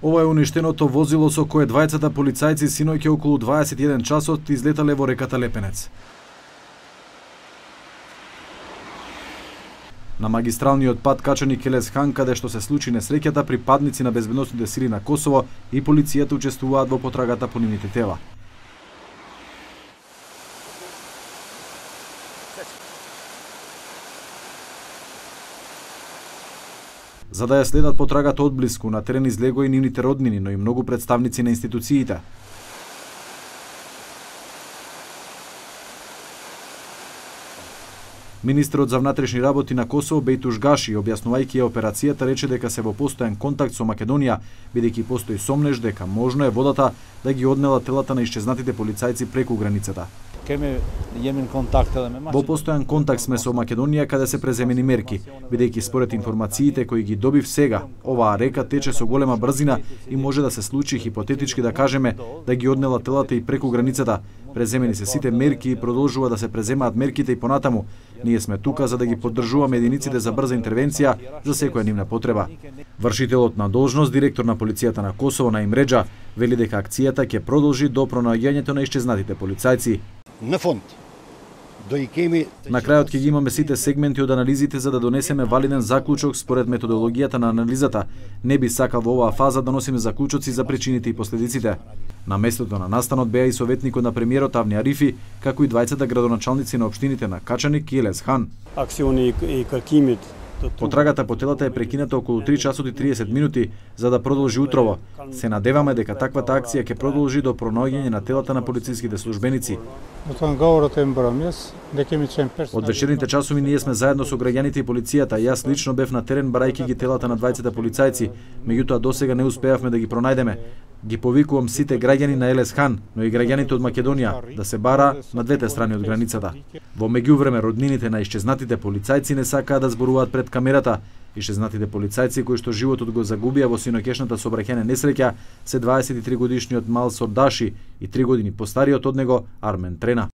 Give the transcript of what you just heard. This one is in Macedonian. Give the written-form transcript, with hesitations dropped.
Ова е уништеното возило со кое двајцата полицајци синоќа околу 21 часот излетале во реката Лепенец. На магистралниот пат Качаник Елес Хан, каде што се случи несреќата, припадници на безбедносните сили на Косово и полицијата учествуваат во потрагата по нивните тела. За да ја следат потрагата одблиску, на терен излегоа и нивните роднини, но и многу представници на институциите. Министерот за внатрешни работи на Косово Бејтуш Гаши, објаснувајќи ја операцијата, рече дека се во постојан контакт со Македонија, бидејќи постои сомнеж дека можно е водата да ги однела телата на исчезнатите полицајци преку границата. Во постојан контакт сме со Македонија, каде се преземени мерки, бидејќи според информациите кои ги добив сега, оваа река тече со голема брзина и може да се случи хипотетички да кажеме да ги однела телата и преку границата. Преземени се сите мерки и продолжува да се преземаат мерките и понатаму. Ние сме тука за да ги поддржуваме единиците за брза интервенција за секоја нивна потреба. Вршителот на должност, директор на полицијата на Косово на Имреджа, вели дека акцијата ќе продолжи до пронаоѓањето на исчезнатите полицајци. На фонд. На крајот ќе ги имаме сите сегменти од анализите за да донесеме валиден заклучок според методологијата на анализата. Не би сакал во оваа фаза да носиме заклучоци за причините и последиците. На местото на настанот беа и советникот на премиерот Авни Арифи, како и двајцата градоначалници на општините на Качаник и Елес Хан. Потрагата по телата е прекината околу 3 часот и 30 минути за да продолжи утрово. Се надеваме дека таквата акција ќе продолжи до пронаоѓање на телата на полициските службеници. Од вечерните часови ние сме заедно со граѓаните и полицијата. Јас лично бев на терен барајќи ги телата на двајцата полицајци, меѓутоа досега не успеавме да ги пронајдеме. Ги повикувам сите граѓани на Елес Хан, но и граѓаните од Македонија да се бара на двете страни од границата. Во меѓувреме роднините на исчезнатите полицајци не сакаат да зборуваат пред камерата. Исчезнатите полицајци кои што животот го загубија во синоќешната сообраќајна несреќа се 23 годишниот Мал Сордаши и 3 години постариот од него Армен Трена.